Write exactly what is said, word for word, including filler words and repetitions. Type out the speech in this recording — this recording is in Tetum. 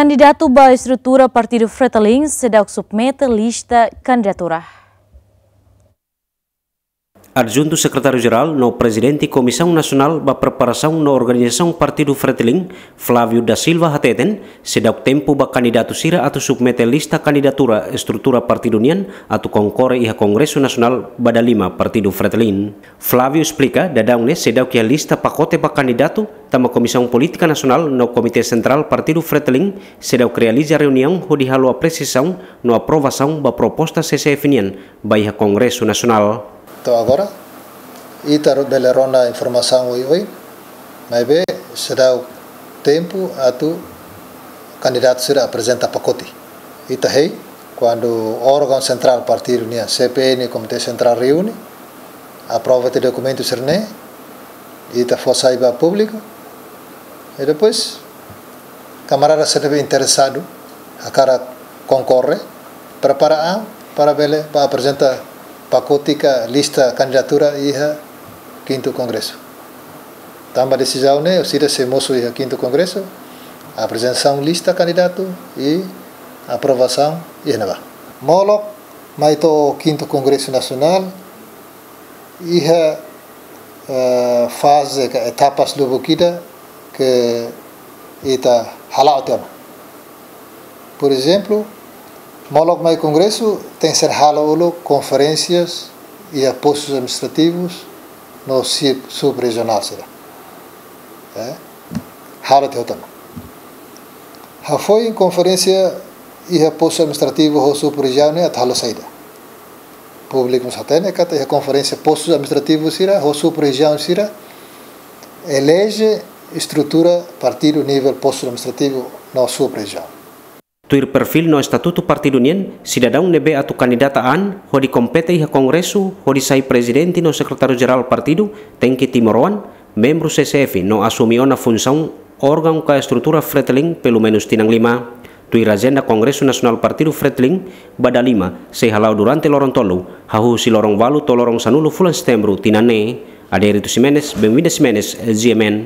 Kandidatu ba estrutura Partidu Fretilin seidauk submete lista kandidatura. Adjuntu Sekretáriu Jerál no Prezidente Komisaun Nasionál ba Preparasaun no Organizasaun Partidu Fretilin, Flávio da Silva hateten, seidauk tempu ba kandidatu sira atu submete lista kandidatura estrutura partidu nian atu konkorre iha Kongresu Nasionál ba dala lima Partidu Fretilin. Flávio esplika, daudaun ne'e seidauk iha lista pakote ba kandidatu, tanba Komisaun Polítika Nasionál no Komité Sentrál Partidu Fretilin seidauk realiza reuniaun hodi halo apresiasaun no aprovasaun ba proposta C C F nian ba iha Kongresu Nasionál. To'o agora, ita ro-, bele rona informasaun oioin, maibé seidauk tempu atu kandidatu sira aprezenta pakote. Ita hein, kuandu órgaun sentrál partidu nian, C P N, Komité Sentrál reúne, aprova tiha dokumentu sira-ne'e, ita fó sai ba públiku, i depois, kamarada sira ne'ebé interesadu, hakarak konkorre, prepara an para bele ba aprezenta pakote ka lista kandidatura iha kintu kongresu. Tanba desizaun ne'e, orsida sei mosu iha kintu kongresu, aprezentasaun lista kandidatu i aprovasaun iha ne'ebá. Molok mai to'o kintu kongresu nasionál, iha, eh, faze ka etapas lubuk ida ke ita hala'o tiha ona. Por ezemplu, molok mai kongresu tenke ser halo uluk konferénsias iha postus administrativus no sub-, sub-rejionál sira. Eh? Halo tiha ona. Hafoin konferénsia iha postu administrativu ho sub-rejiaun ne'e atu halo saida. Públiku mós hatene katak iha konferénsia postu administrativu sira ho sub-rejiaun sira eleje estrutura partidu nivel postu administrativu no sub-rejiaun. Tuir perfíl no estatutu partidu nian, sidadaun ne'ebé atu kandidata an hodi kompete iha kongresu hodi sai prezidente no sekretáriu jerál partidu tenke timoroan, membru C C F no asume ona funsaun órgaun ka estrutura Fretilin pelumenus tinan lima. Tuir ajenda Kongresu Nasionál Partidu Fretilin ba dala lima sei hala'o durante loron tolu, hahú husi loron ualu to'o loron sanulu fulan Setembru tinan ne'e. Adérito Ximenes, Benvinda Ximenes, G M N.